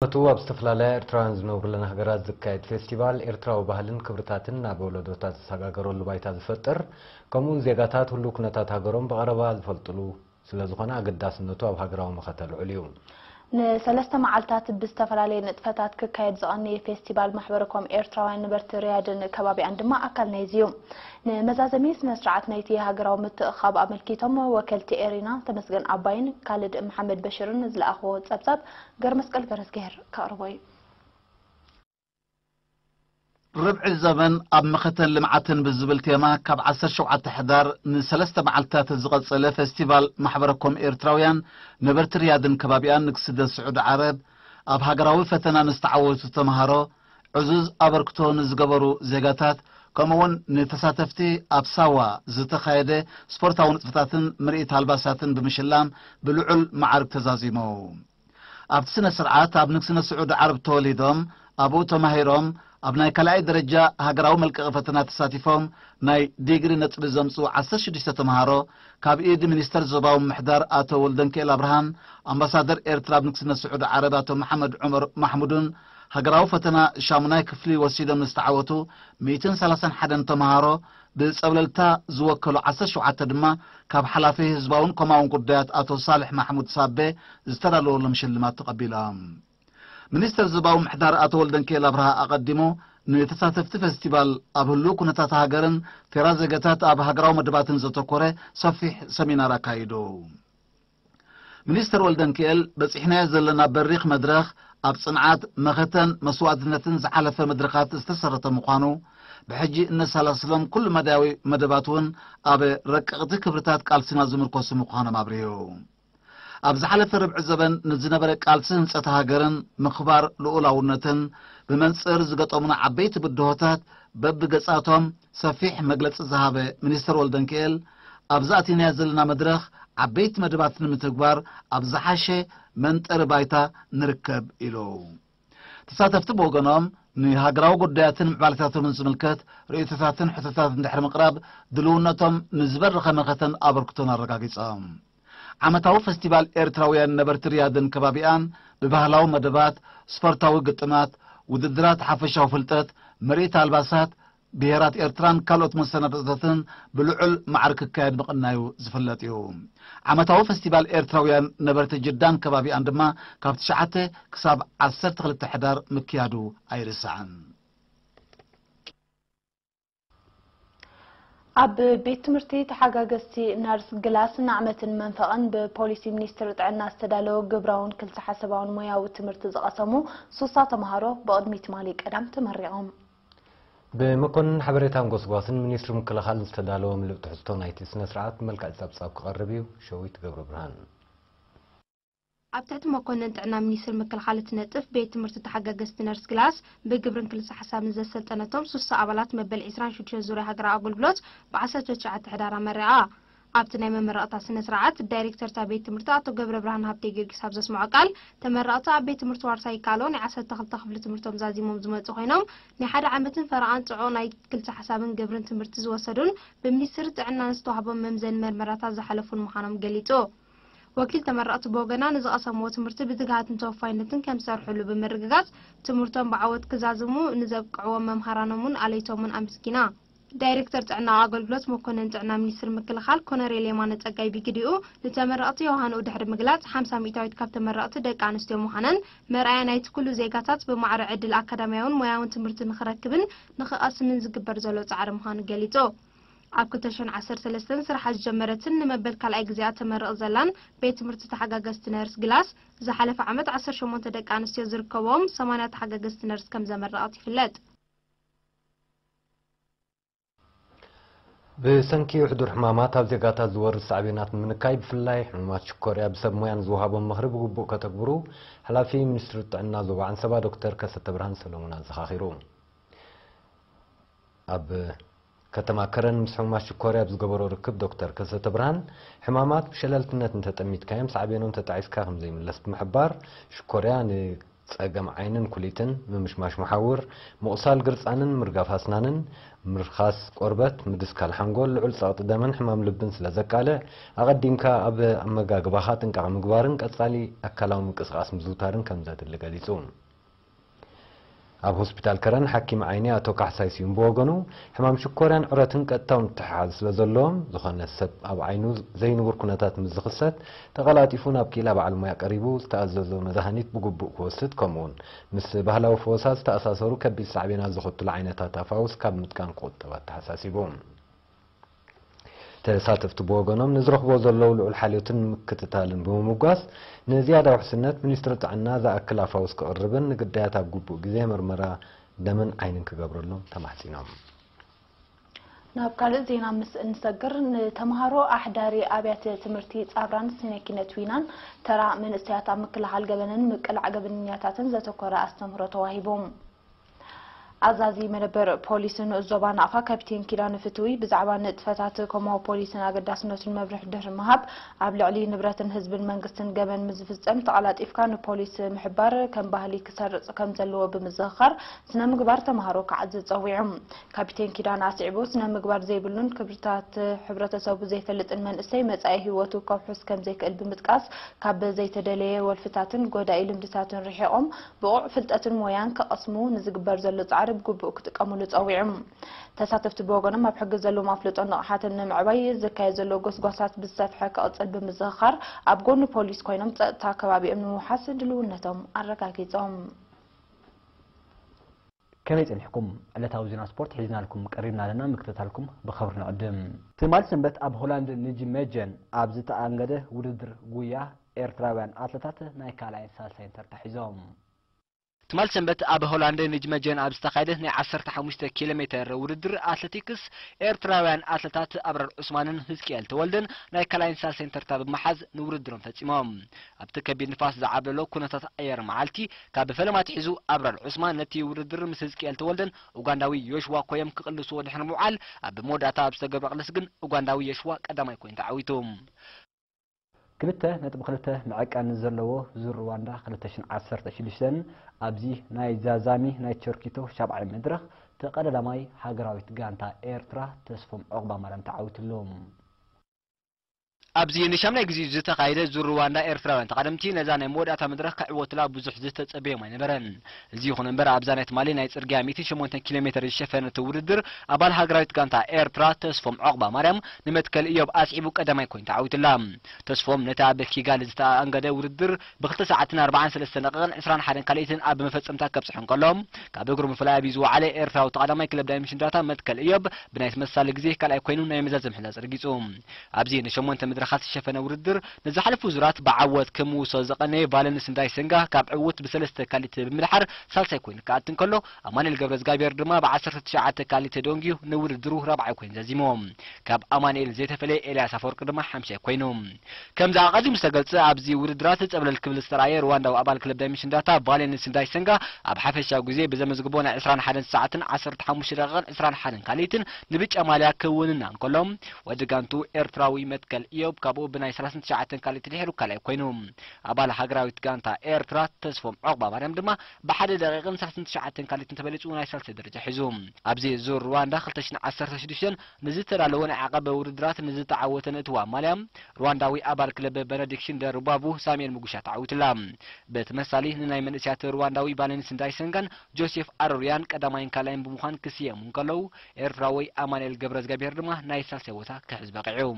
እቱ ኣብ ዝተፈላለያ ኤርትራውያን ዝነብሩለን ሃገራት ዝካየድ ፌስቲቫል ኤርትራዊ ባህልን ክብርታትን ናብ ወለዶታት ዝሰጋገረሉ ባይታ ዝፈጥር፣ ከምኡውን ዜጋታት ህሉው ኩነታት ሃገሮም ብቐረባ ዝፈልጥሉ ስለ ዝኾነ ኣገዳስነቱ ኣብ ሃገራዊ መኸተ ልዑል እዩ። ንሰለስተ መዓልታት ብዝተፈላለየ ንጥፈታት ክካየድ ዝቐነየ ፌስቲቫል ማሕበረኮም ኤርትራውያን ነበርቲ ሪያድን ከባቢኣን ድማ ኣካል ናይዚ እዩ። ንመዛዘሚ ስነ ስርዓት ናይቲ ሃገራዊ ምትእኻብ ኣመልኪቶም ወከልቲ ኤሪና ተመስገን ኣባይን ካልድ መሓመድ በሽርን ዝለኣኽዎ ጸብጻብ ገርመስቀል ገረዝግሄር ከቕርቦ እዩ። ርብዒ ዘመን ኣብ መኸተን ልምዓትን ብዝብል ቴማ ካብ ዓሰርተ ሸውዓተ ሕዳር ንሰለስተ መዓልታት ዝቐጸለ ፌስቲቫል ማሕበረኮም ኤርትራውያን ነበርቲ ሪያድን ከባቢኣን ንክስደት ስዑዲ ዓረብ ኣብ ሃገራዊ ፈተና ንዝተዓወቱ ተምሃሮ ዕዙዝ ኣበርክቶ ንዝገበሩ ዜጋታት ከምኡውን ንተሳተፍቲ ኣብ ሳዋ ዝተኻየደ ስፖርታዊ ንጥፈታትን ምርኢት ኣልባሳትን ብምሽላም ብልዑል መዓርግ ተዛዚሙ። ኣብቲ ስነ ስርዓት ኣብ ንግስነት ስዑዲ ዓረብ ተወሊዶም ኣብኡ ተማሂሮም ኣብ ናይ ካልኣይ ደረጃ ሃገራዊ መልቀቒ ፈተና ተሳቲፎም ናይ ዲግሪ ነጥቢ ዘምፅኡ ዓሰርተ ሽዱሽተ ተምሃሮ ካብ ኢድ ሚኒስተር ዞባዊ ምሕዳር ኣቶ ወልደንክኤል ኣብርሃን ኣምባሳደር ኤርትራ ኣብ ንግስነት ስዑዲ ዓረብ ኣቶ መሓመድ ዑመር ማሕሙድን ሃገራዊ ፈተና ሻሙናይ ክፍሊ ወሲዶም ንዝተዓወቱ ሚእትን ሰላሳን ሓደን ተምሃሮ ብጸብለልታ ዝወከሉ ዓሰርተ ሸውዓተ ድማ ካብ ሓላፊ ህዝባውን ኮማውን ጉዳያት ኣቶ ሳልሕ ማሕሙድ ሳቤ ዝተዳለወሎም ሽልማት ተቐቢሎም። ሚኒስተር ዞባዊ ምሕዳር ኣቶ ወልደንኪኤል ኣብርሃ ኣቐዲሙ ንተሳተፍቲ ፈስቲቫል ኣብ ህሉው ኩነታት ሃገርን ተራ ዜጋታት ኣብ ሃገራዊ መደባትን ዘተኮረ ሰፊሕ ሰሚናር ኣካይዱ። ሚኒስተር ወልደንኪኤል በጺሕናዮ ዘለና በሪኽ መድረኽ ኣብ ጽንዓት፣ መኸተን መስዋእትነትን ዝሓለፈ መድረኻት ዝተሰረተ ምዃኑ፣ ብሕጂ እነሰላስሎም ኩሉ መዳያዊ መደባት እውን ኣብ ረቀቕቲ ክብርታት ቃልስና ዝምርኮሱ ምዃኖም ኣብሪሁ። ኣብ ዝሓለፈ ርብዒ ዘበን ንዝነበረ ቃልሲ ህንጸት ሃገርን ምኽባር ልኡላውነትን ብመንጽር ዝገጠሙና ዓበይቲ ብድሆታት በብገጻቶም ሰፊሕ መግለጺ ዝሃበ ሚኒስተር ወልደንኪኤል፣ ኣብዚ ኣቲናዮ ዘለና መድረኽ ዓበይቲ መደባት ንምትግባር ኣብ ዝሓሸ መንጠሪ ባይታ ንርከብ ኢሉ። ተሳተፍቲ ብወገኖም ንሃገራዊ ጉዳያትን ምዕባለታቶምን ዝምልከት ርእይቶታትን ሕቶታትን ድሕሪ ምቕራብ ድልውነቶም ንዝበረኸ መኸተን ኣበርክቶን ኣረጋጊጾም። ዓመታዊ ፈስቲቫል ኤርትራውያን ነበርቲ ሪያድን ከባቢኣን ብባህላዊ መደባት፣ ስፖርታዊ ግጥማት፣ ውድድራት ሓፈሻዊ ፍልጠት፣ ምርኢት ኣልባሳት ብሄራት ኤርትራን ካልኦት መሰናድኦታትን ብልዑል ማዕርግ ክካየድ ምቕናዩ ዝፍለጥ እዩ። ዓመታዊ ፈስቲቫል ኤርትራውያን ነበርቲ ጅዳን ከባቢኣን ድማ ካብ ትሽዓተ ክሳብ ዓሰርተ ክልተ ሕዳር ምክያዱ ኣይርሳዕን። ኣብ ቤት ትምህርቲ ተሓጋገዝቲ ነርስ ግላስ ንዓመትን መንፈቕን ብፖሊሲ ሚኒስትሪ ጥዕና ዝተዳለወ ግብራውን ክልተ ሓሳባውን ሞያዊ ትምህርቲ ዝቐሰሙ ሱሳ ተምሃሮ ብቕድሚ ትማሊ ቀዳም ተመሪቖም። ብመኮንን ሓበሬታን ጎስጓስን ሚኒስትሪ ምክልኻል ዝተዳለወ ምሉእ ትሕዝቶ ናይቲ ስነ ስርዓት ብመልክዕ ጸብጻብ ክቐርብ እዩ። ሸዊት ገብረ ብርሃን። ኣብ ትሕቲ መኮንን ጥዕና ሚኒስትሪ ምክልኻል እትነጥፍ ቤት ትምህርቲ ተሓጋገዝቲ ነርስ ግላስ ብግብርን ክልሰ ሓሳብን ዘሰልጠነቶም ሱሳ ኣባላት መበል ዕስራን ሽዱሽተን ዙርያ ሃገራዊ ኣገልግሎት ብ ዓሰርተ ትሽዓተ ሕዳር ኣመሪቓ። ኣብቲ ናይ መመረቕታ ስነ ስርዓት ዳይሬክተር እታ ቤት ትምህርቲ ኣቶ ገብረ ብርሃን ሃብተ ጊዮርጊስ ኣብ ዘስምዖ ቃል፣ ተመረቕቲ ኣብ ቤት ትምህርቲ ዋርሳይ ይከኣሎ ናይ ዓሰርተ ክልተ ክፍሊ ትምህርቶም ዛዚሞም ዝመጹ ኮይኖም፣ ናይ ሓደ ዓመትን ፈረቓን ጽዑቕ ናይ ክልሰ ሓሳብን ግብርን ትምህርቲ ዝወሰዱን ብሚኒስትሪ ጥዕና ዝተዋህቦም መምዘኒ መርመራታት ዝሓለፉን ምዃኖም ገሊጹ። ወኪል ተመረቕቲ ብወገና ንዝቐሰምዎ ትምህርቲ ብትግሃትን ተወፋይነትን ከም ዝሰርሕሉ ብምርግጋጽ፣ ትምህርቶም ብዓወት ክዛዝሙ ንዘብቅዕዎም መምሃራኖምን ኣለይቶምን ኣመስጊና። ዳይሬክተር ጥዕና ኣገልግሎት መኮንን ጥዕና ሚኒስትሪ ምክልኻል ኮነሬል የማነ ጸጋይ ብግዲኡ፣ ንተመረቕቲ የውሃንኡ ድሕሪ ምግላጽ፣ ሓምሳ ሚእታዊት ካብ ተመረቕቲ ደቂ ኣንስትዮ ምዃነን መርኣያ ናይቲ ኩሉ ዜጋታት ብማዕረ ዕድል ኣካዳሚያውን ሞያውን ትምህርቲ ንኽረክብን ንኽቐስምን ዝግበር ዘሎ ጻዕሪ ምዃኑ ገሊጹ። ኣብ ክልተ ሽሕን ዓሰርተ ሰለስተን ስርሓ ዝጀመረትን ንመበል ካልኣይ ግዜኣ ተመርቕ ዘላን ቤት ትምህርቲ ተሓጋገዝቲ ነርስ ግላስ፣ ዝሓለፈ ዓመት ዓሰርተ ሸሞንተ ደቂ ኣንስትዮ ዝርከብኦም ሰማንያ ተሓጋገዝቲ ነርስ ከም ዘመረቐት ይፍለጥ። ብሰንኪ ሕዱር ሕማማት ኣብ ዜጋታት ዝወርድ ሳዕቤናት ንምንካይ፣ ብፍላይ ሕሙማት ሽኮርያ ብሰብ ሞያን ዝወሃቦም ምኽሪ ብግቡእ ከተግብሩ ሓላፊ ሚኒስትሪ ጥዕና ዞባ ዓንሰባ ዶክተር ከሰተ ብርሃን ሰሎሙን ኣዘኻኺሩ። ኣብ ከተማ ከረን ምስ ሕሙማት ሽኮርያ ኣብ ዝገበሮ ርክብ ዶክተር ከሰተ ብርሃን፣ ሕማማት ብሸለልትነት እንተጠሚትካዮም ሳዕቤኖም ተጣዒስካ ከም ዘይምለስ ብምሕባር፣ ሽኮርያ ን ጸገም ዓይንን ኩሊትን፣ ምምሽማሽ መሓውር፣ ምቑሳል ግርጻንን ምርጋፍ ኣስናንን፣ ምርኻስ ቆርበት፣ ምድስካል ሓንጎል፣ ልዑል ጸቕጢ ደምን ሕማም ልብን ስለ ዘቃልዕ፣ ኣቐዲምካ ኣብ ኣመጋግባኻ ጥንቃቐ ምግባርን ቀጻሊ ኣካላዊ ምንቅስቓስ ምዝውታርን ከም ዘድሊ ገሊጹ። ኣብ ሆስፒታል ከረን ሓኪም ዓይኒ ኣቶ ካሕሳይ ስዩም ብወገኑ፣ ሕማም ሽኮርያን ዕረትን ቀጥታዊ ምትሕሓዝ ስለ ዘለዎም፣ ዝኾነ ሰብ ኣብ ዓይኑ ዘይንቡር ኩነታት ምስ ዝኽሰት፣ ተቐላጢፉ ናብ ክኢላ በዓል ሞያ ቀሪቡ ዝተኣዘዞ መድሃኒት ብግቡእ ክወስድ፣ ከምኡውን ምስ ባህላዊ ፈወሳ ዝተኣሳሰሩ ከቢድ ሳዕቤናት ዘኸትሉ ዓይነታት ኣፋውስ ካብ ምጥቃም ክቑጠብ ኣተሓሳሲቡ። ተሳተፍቲ ብወገኖም፣ ንዝረኽቦ ዘለዉ ልዑል ሓልዮትን ምክትታልን ብምምጓስ፣ ንዝያዳ ውሕስነት፣ ሚኒስትሪ ጥዕና ዝኣክል ኣፋውስ ክቕርብን ንግዳያት ኣብ ግቡእ ግዜ ምርመራ ደምን ዓይንን ክገብረሎም ተማሕጺኖም። ናብ ካልእ ዜና ምስ እንሰግር፣ ንተምሃሮ ኣሕዳሪ ኣብያተ ትምህርቲ ጻብራን ስነ ኪነት ዊናን ተራ መንእሰያት ኣብ ምክልኻል ገበንን ምቅላዕ ገበነኛታትን ዘተኮረ ኣስተምህሮ ተዋሂቡ። ኣዛዚ መደበር ፖሊስ ንኡስ ዞባ ናቕፋ ካፒቴን ኪዳነ ፍትዊ ብዛዕባ ንጥፈታት ኮማዊ ፖሊስን ኣገዳስነቱን መብርሂ ድሕሪ ምሃብ፣ ኣብ ልዕሊ ንብረትን ህዝብን መንግስትን ገበን ምስ ዝፍጸም ተቐላጢፍካ ንፖሊስ ምሕባር ከም ባህሊ ክሰርጽ ከም ዘለዎ ብምዝኽኻር፣ ስነ ምግባር ተምሃሮ ክዓዝዝ ጸዊዑ። ካፒቴን ኪዳነ ኣስዒቡ፣ ስነ ምግባር ዘይብሉን ክብርታት ሕብረተሰቡ ዘይፈልጥን መንእሰይ መጻኢ ህይወቱ ከውሕስ ከም ዘይክእል ብምጥቃስ፣ ካብ ዘይተደለየ ወልፍታትን ጎዳኢ ልምድታትን ርሒቖም ብቑዕ ፍልጠትን ሞያን ክቐስሙ ንዝግበር ዘሎ ጻዕሪ ብግቡእ ክጥቀሙሉ ጸዊዑ። ተሳተፍቲ ብወገኖም ኣብ ሕጊ ዘለዎም ኣፍልጦን ንቕሓትን ንምዕባይ ዝካየድ ዘሎ ጎስጓሳት ብዝሰፍሐ ክቕጽል ብምዝኽኻር ኣብ ጎኒ ፖሊስ ኮይኖም ጸጥታ ከባቢኦም ንምውሓስ ድልውነቶም ኣረጋጊጾም። ከመይ ጸኒሕኩም? ዕለታዊ ዜና ስፖርት ሒዝናልኩም ቀሪብና ኣለና፣ ምክትታልኩም ብኸብሪ ንዕድም። ትማሊ ሰንበት ኣብ ሆላንድ ንጅመጀን ኣብ ዝተኣንገደ ውድድር ጉያ ኤርትራውያን ኣትለታት ናይ ካልኣይን ሳልሳይን ተርታ ሒዞም። ትማሊ ሰንበት ኣብ ሆላንድ ንጅመጀን ኣብ ዝተኻየደ ናይ ዓሰርተ ሓሙሽተ ኪሎ ሜተር ውድድር ኣትሌቲክስ፣ ኤርትራውያን ኣትለታት ኣብራር ዑስማንን ህዝቅኤል ተወልደን ናይ ካልኣይን ሳልሳይን ተርታ ብምሓዝ ንውድድሮም ፈጺሞም። ኣብቲ ከቢድ ንፋስ ዝዓብለሎ ኩነታት ኣየር መዓልቲ፣ ካብ ፈለማ ኣትሒዙ ኣብራር ዑስማን ነቲ ውድድር ምስ ህዝቅኤል ተወልደን ኡጋንዳዊ ዮሽዋ ኮዮም ክቕልስዎ ድሕሪ ምውዓል፣ ኣብ መወዳእታ ኣብ ዝተገብረ ቅልስ ግን ኡጋንዳዊ ዮሽዋ ቀዳማይ ኮይኑ ተዓዊቱ። ክልተ ነጥቢ ክልተ መዐቀኒ ዘለዎ ዙር ሩዋንዳ ክልተ ሽሕን ዓሰርተ ሽዱሽተን ኣብዚ ናይ ዛዛሚ ናይ ቸርኪቶ ሻብዓይ መድረኽ ተቐዳዳማይ ሃገራዊት ጋንታ ኤርትራ ተስፎም ዑቕባማርያም ተዓዊትሉ። ኣብዚ ንሻምናይ ግዜ ዝተኻየደ ዙር ሩዋንዳ ኤርትራውያን ተቓደምቲ ነዛ ናይ መወዳእታ መድረኽ ክዕወትላ ብዙሕ ዝተጸበዮም ኣይነበረን። እዚ ይኹን እምበር ኣብዛ ናይ ትማሊ ናይ ጽርግያ ሚእትን ሸሞንተን ኪሎ ሜተር ዝሸፈነት ውድድር ኣባል ሃገራዊት ጋንታ ኤርትራ ተስፎም ዑቕባማርያም ንመትከል እዮብ ኣስዒቡ ቀዳማይ ኮይኑ ተዓዊትላ። ተስፎም ነቲ ኣብ ኪጋሊ ዝተኣንገደ ውድድር ብክልተ ሰዓትን ኣርባዓን ሰለስተን ደቂቕን ዕስራን ሓደን ካልኢትን ኣብ መፈጸምታ ከብጽሖ እንከሎ፣ ካብ እግሩ ምፍላይ ኣብዩ ዝወዓለ ኤርትራዊ ተቐዳማይ ክለብ ዳይመንሽን ዳታ መትከል እዮብ ብናይ ተመሳሳሊ ግዜ ካልኣይ ኮይኑ ናይ መዛዘሚ ሕንጻ ኣረጋጊጹ። ኣብዚ ንሸሞንተ መድረኻት ዝሸፈነ ውድድር ንዝሓለፉ ዙራት ብዓወት ክምውሶ ዝቐነየ ቫለንስ እንዳይሰንጋ ካብ ዕዉት ብሰለስተ ካልኢት ብምድሓር ሳልሳይ ኮይኑ ክኣቱ እንከሎ፣ ኣማኑኤል ገብረዝጋብሔር ድማ ብዓሰርተ ትሽዓተ ካልኢት ተደንጊዩ ንውድድሩ ራብዓይ ኮይኑ ዛዚሙ። ካብ ኣማኑኤል ዘይተፈለየ ኤልያስ ኣፈወርቂ ድማ ሓምሻይ ኮይኑ። ከምዚ ኣቐዲሙ ዝተገልጸ፣ ኣብዚ ውድድራት ጸብለል ክብል ዝተራእየ ሩዋንዳዊ ኣባል ክለብ ዳይመንሽን ዳታ ቫለንስ እንዳይሰንጋ ኣብ ሓፈሻዊ ግዜ ብዘመዝግቦ ናይ ዕስራን ሓደን ሰዓትን ዓሰርተ ሓሙሽተ ደቂቕን ዕስራን ሓደን ካልኢትን ንብጫ ማልያ ክውንና እንከሎ፣ ወዲ ጋንቱ ኤርትራዊ መትከል እዮብ ካብኡ ብናይ ሰላሳን ትሽዓተን ካልኢት ድሒሩ ካልኣይ ኮይኑ። ኣባል ሃገራዊት ጋንታ ኤርትራ ተስፎም ዑቕባማርያም ድማ ብሓደ ደቂቕን ሰላሳን ትሽዓተን ካልኢትን ተበሊጹ ናይ ሳልሳይ ደረጃ ሒዙ። ኣብዚ ዙር ሩዋንዳ ክልተ ሽሕን ዓሰርተ ሽዱሽተን ንዝተዳለወ ናይ ዓቐበ ውድድራት ንዝተዓወተ ንእትዋ ማልያ፣ ሩዋንዳዊ ኣባል ክለብ በነዲክሽን ደርባቡ ሳሙኤል ሙጉሻ ተዓዊቱላ። ብተመሳሊ ንናይ መንእሰያት ሩዋንዳዊ ቫለንስ እንዳይሰንጋን ጆሴፍ ኣሮሪያን ቀዳማይን ካልኣይን ብምዃን ክስየሙ እንከለዉ፣ ኤርትራዊ ኣማኑኤል ገብረዝጋብሔር ድማ ናይ ሳልሳይ ቦታ ክሕዝ በቒዑ።